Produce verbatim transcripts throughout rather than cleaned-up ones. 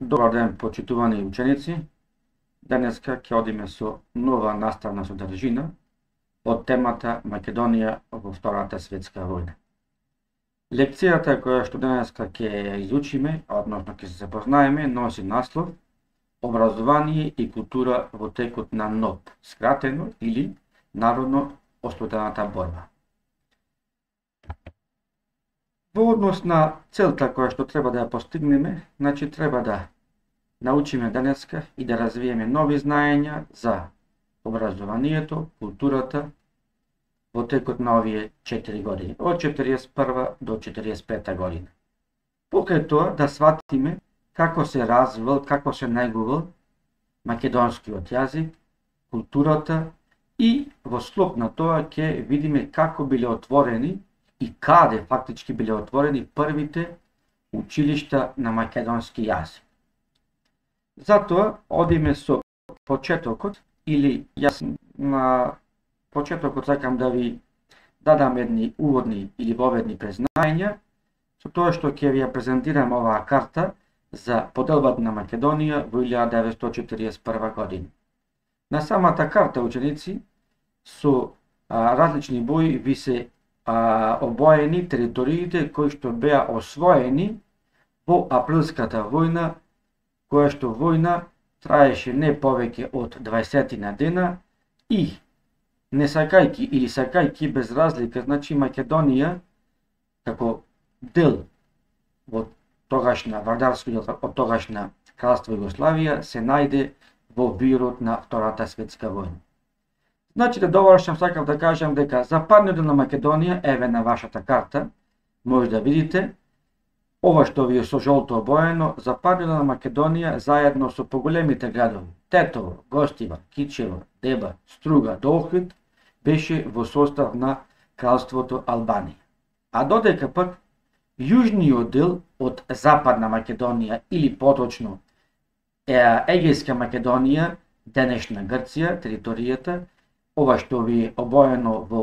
Добар ден, почитувани ученици. Денеска ќе одиме со нова наставна содржина од темата Македонија во Втората светска војна. Лекцијата која што денеска ќе ја изучиме, односно ќе се запознаеме, носи наслов Образование и култура во текот на НОБ, скратено или народно ослободената борба. Во однос на целта која што треба да ја постигнеме, значи треба да научиме денеска и да развиеме нови знаења за образованието, културата во текот на овие четири години, од четириесет и прва до четириесет и пета година. Покрај тоа да сватиме како се развивал, како се негувал македонскиот јазик, културата и во склоп на тоа ќе видиме како биле отворени и каде фактички биле отворени првите училишта на македонски јазик. Затоа одиме со почетокот, или јас на почетокот сакам да ви дадам едни уводни или воведни презнања со тоа што ќе ви ја презентирам оваа карта за поделбата на Македонија во илјада деветстотини четириесет и прва година. На самата карта, ученици, со а, различни бои ви се а, обоени териториите кои што беа освоени во априлската војна, која што војна траеше не повеќе од дваесетина дена и не сакајки или сакајки без разлика, значи Македонија како дел во тогашна вардарски дел од тогашна кралство Југославија се најде во вирот на Втората светска војна. Значи да довршам, сакав да кажам дека западниот дел на Македонија, еве на вашата карта, може да видите, ова што ви е со жолто обоено, западниот дел на Македонија заедно со поголемите градови Тетово, Гостивар, Кичево, Деба, Струга, Охрид беше во состав на кралството Албанија. А додека пак јужниот дел од западна Македонија или поточно Егејска Македонија, денешна Грција, територијата, ова што ви е обоено во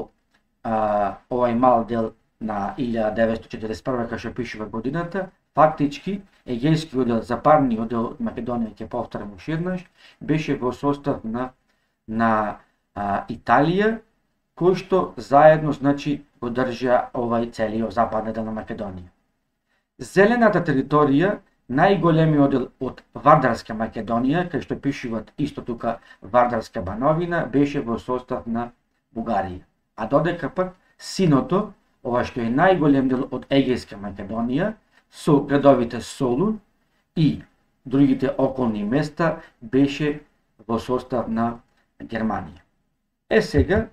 а, овај мал дел на илјада деветстотини четириесет и прва, кај што пишува годината, фактички Егејскиот дел, западниот дел од Македонија, ќе повторам уште еднаш, беше во состав на на а, Италија, кој што заедно, значи, го држа овај целиот западен дел на Македонија. Зелената територија, најголемиот дел од Вардарска Македонија, кај што пишуваат исто тука Вардарска бановина, беше во состав на Бугарија. А додека пак синото, ова што е најголем дел од Егејска Македонија, со градовите Солун и другите околни места, беше во состав на Германија. Е сега,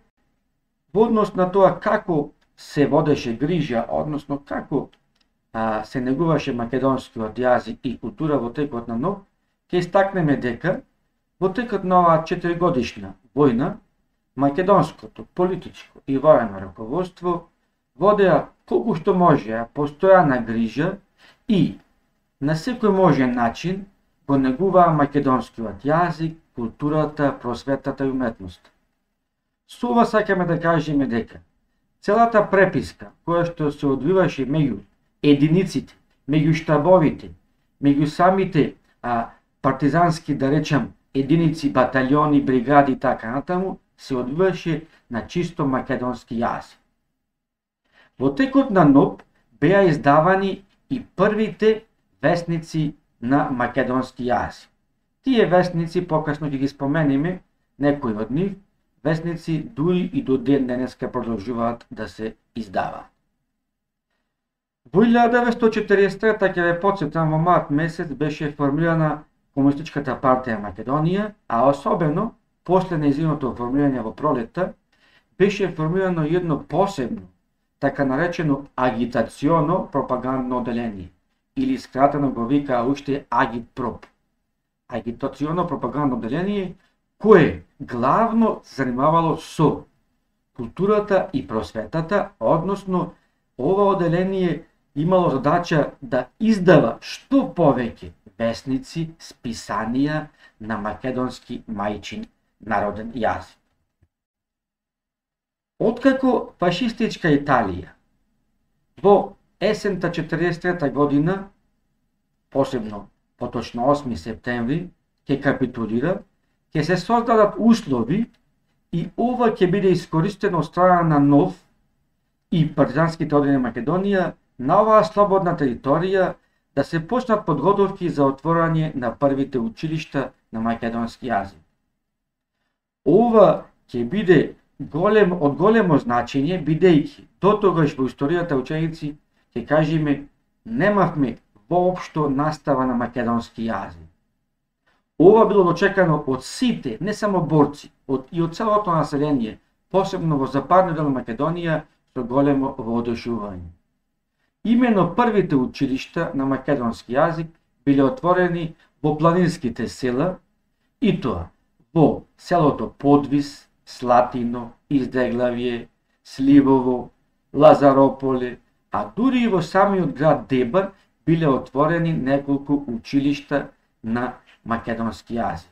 во однос на тоа како се водеше грижа, односно како а, се негуваше македонскиот јазик и култура во текот на НОБ, ќе истакнеме дека во текот на оваа четиригодишна војна, македонското политичко и воено раководство водеа колку што можеа постојана грижа и на секој можен начин го негуваа македонскиот јазик, културата, просветата и уметноста. Со ова сакаме да кажеме дека целата преписка која што се одвиваше меѓу единиците, меѓу штабовите, меѓу самите а, партизански, да речем, единици, баталиони, бригади и така натаму, се одвиваше на чисто македонски јазик. Во текот на НОБ беа издавани и првите весници на македонски јазик. Тие весници, покасно ќе ги спомениме, некои од нив, весници дури и до ден денеска продолжуваат да се издаваат. Во илјада деветстотини четириесет и трета, ќе ве потсетам, во март месец беше формирана Комунистичката партија Македонија, а особено после нејзиното формирање во пролетта беше формирано едно посебно, така наречено агитационо пропагандно оделение, или скратено го вика уште Агитпроп. Агитационо пропагандно оделение кое главно се занимавало со културата и просветата, односно ова оделение имало задача да издава што повеќе весници, списанија на македонски мајчин народен јазик. Откако фашистичка Италија во есента четириесет и трета година, посебно поточно осми септември, ќе капитулира, ќе се создадат услови и ова ќе биде искористено од страна на НОВ и партизанските одбрани на Македонија на оваа слободна територија да се почнат подготовки за отворање на првите училишта на македонски јазик. Ова ќе биде голем, од големо значење, бидејќи дотогаш во историјата ученици ќе кажеме немавме воопшто настава на македонски јазик. Ова било дочекано од сите, не само борци, од, и од целото население, посебно во западниот дел на Македонија, со големо воодушевување. Имено првите училишта на македонски јазик биле отворени во планинските села, и тоа во селото Подвис, Слатино, Издеглавје, Сливово, Лазарополе, а дури и во самиот град Дебар биле отворени неколку училишта на македонски јазик.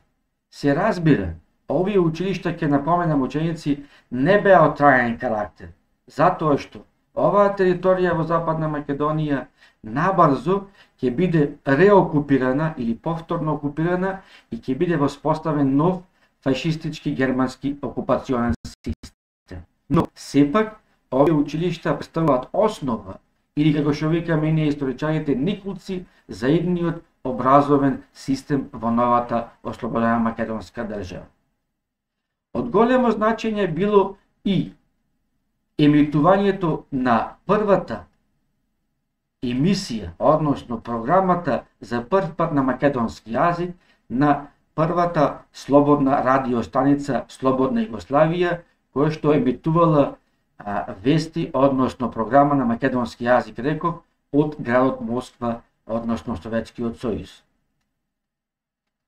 Се разбира, овие училишта, ќе напоменам ученици, не беа од трајен карактер, затоа што оваа територија во Западна Македонија набрзо ќе биде реокупирана или повторно окупирана и ќе биде воспоставен нов фашистички германски окупационен систем. Но сепак овие училишта представуваат основа или, како што викаме ние историчарите, никулци за идниот образовен систем во новата ослободена македонска држава. Од големо значење било и емитувањето на првата емисија, односно програмата за прв пат на македонски јазик на првата слободна радиостаница Слободна Југославија, која што емитувала а, вести, односно програма на македонски јазик, реков, од градот Москва, односно Советскиот сојуз.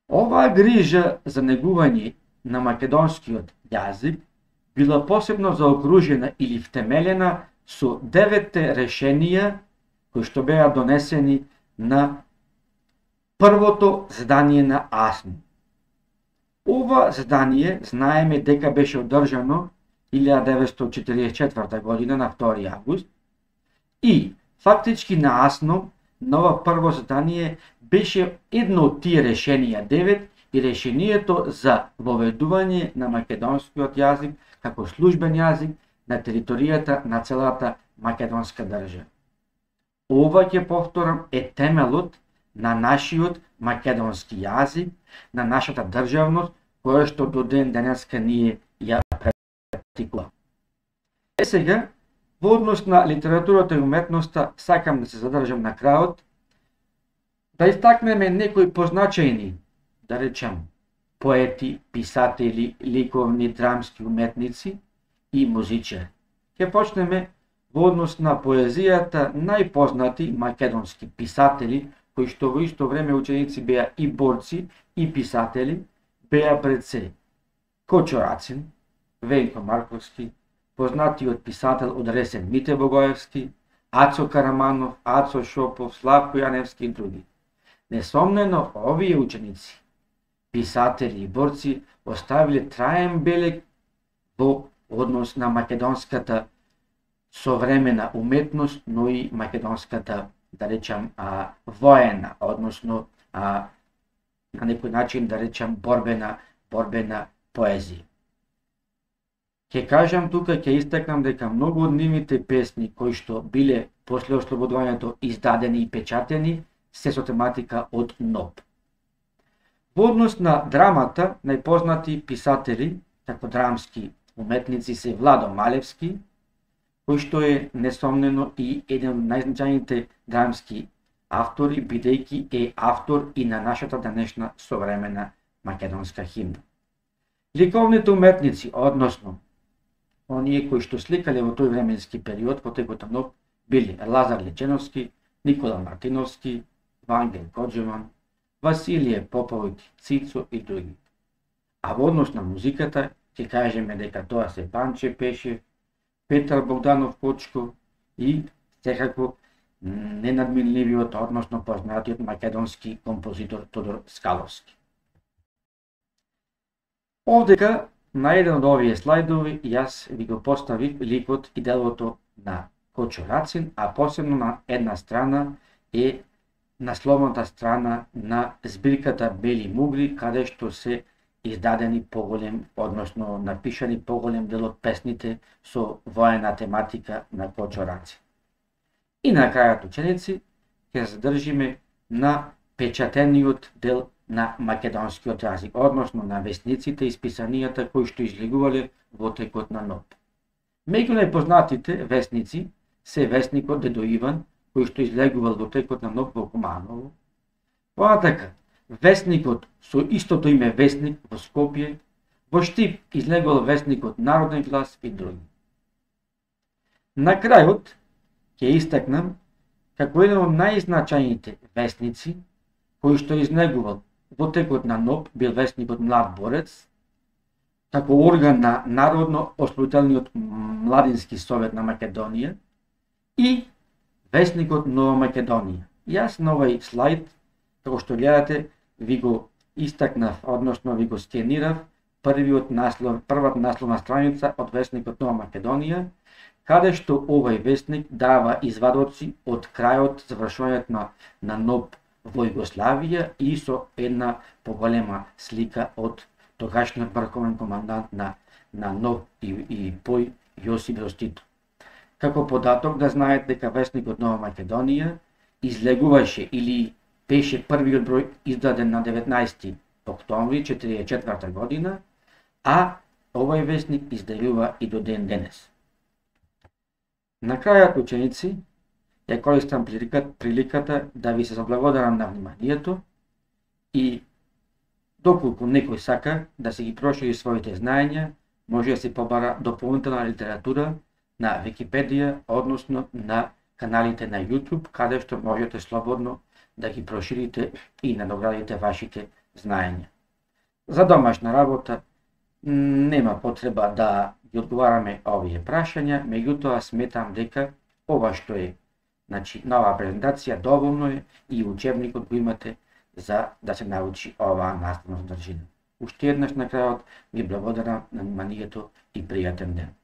Оваа грижа за негување на македонскиот јазик била посебно заокружена или втемелена со деветте решенија кои што беа донесени на првото задание на АСН. Ова задание знаеме дека беше одржано илјада деветстотини четиридесет и четврта година на втори август и фактички на АСН на ова прво задание беше едно од тие решенија девет и решението за воведување на македонскиот јазик како службен јазик на територијата на целата македонска држава. Ова, ќе повторам, е темелот на нашиот македонски јазик, на нашата државност, која што до ден денеска ние ја практикуваме. Е сега, во однос на литературата и уметноста, сакам да се задржам на крајот, да истакнеме некои позначајни, да речем, поети, писатели, ликовни, драмски уметници и музичари. Ќе почнеме во однос на поезијата најпознати македонски писатели, кои што во исто време ученици беа и борци и писатели, беа пред се Кочо Рацин, Вејко Марковски, познатиот писател од Ресен Мите Богоевски, Ацо Караманов, Ацо Шопов, Славко Јаневски и други. Несомнено, овие ученици, писатели и борци, оставиле траен белег во однос на македонската современа уметност, но и македонската, да речам, а, воена, односно а, на некој начин, да речам, борбена, борбена поезија. Ќе кажам тука, ќе истакнам дека многу од нивните песни кои што биле после ослободувањето издадени и печатени се со тематика од НОБ. Во однос на драмата, најпознати писатели, како драмски уметници се Владо Малевски, кој што е несомнено и еден од најзначајните драмски автори, бидејќи е автор и на нашата денешна современа македонска химна. Ликовните уметници, односно оние кои што сликале во тој временски период, во текот на НОБ, били Лазар Леченовски, Никола Мартиновски, Вангел Коджеман, Василije Поповиќ, Цицо и други. А во однос на музиката, ќе кажеме дека тоа се Панче Пешев, Петар Богданов Кочко и секако ненадминливиот, односно познатиот македонски композитор Тодор Скаловски. Овдека на еден од овие слайдови јас ви го поставив ликот и делото на Кочо Рацин, а посебно на една страна е насловната страна на збирката Бели мугли, каде што се издадени поголем, односно напишани поголем дел од песните со воена тематика на Кочо Раци. И на крајот, ученици, ќе задржиме на печатениот дел на македонскиот јазик, односно на весниците и списанијата кои што излегувале во текот на НОП. Меѓу најпознатите весници се весникот Дедо Иван, кој што излегувал во текот на НОП во Куманово. Понатака, весникот со истото име Весник во Скопје, во Штип излегувал весникот Народен глас и други. На крајот ќе истакнам како еден од најзначајните весници кој што излегувал во текот на НОП бил весникот Млад борец, како орган на Народно-ослободителниот младински совет на Македонија и весникот Нова Македонија. Јас на овој слайд, како што гледате, ви го истакнав, односно ви го скенирав првиот наслов, првата насловна страница од весникот Нова Македонија, каде што овој весник дава извадоци од крајот завршувањето на, на НОП во Југославија и со една поголема слика од тогашниот врховен командант на, на НОП и, и Пој Јосип Брз Тито. Како податок да знаете дека весникот Нова Македонија излегуваше или беше првиот број издаден на деветнаесети октомври четиридесет и четврта година, а овој весник изделува и до ден денес. На крајот, ученици, ја користам приликата да ви се заблагодарам на вниманието и доколку некој сака да се ги прошири своите знаења, може да се побара дополнителна литература на Википедија, односно на каналите на YouTube, каде што можете слободно да ги проширите и надоградите вашите знаења. За домашна работа нема потреба да ги одговараме овие прашања, меѓутоа сметам дека ова што е, значи, нова презентација доволно е и учебникот го имате за да се научи оваа наставна содржина. Уште еднаш на крајот ви благодарам на вниманието и пријатен ден.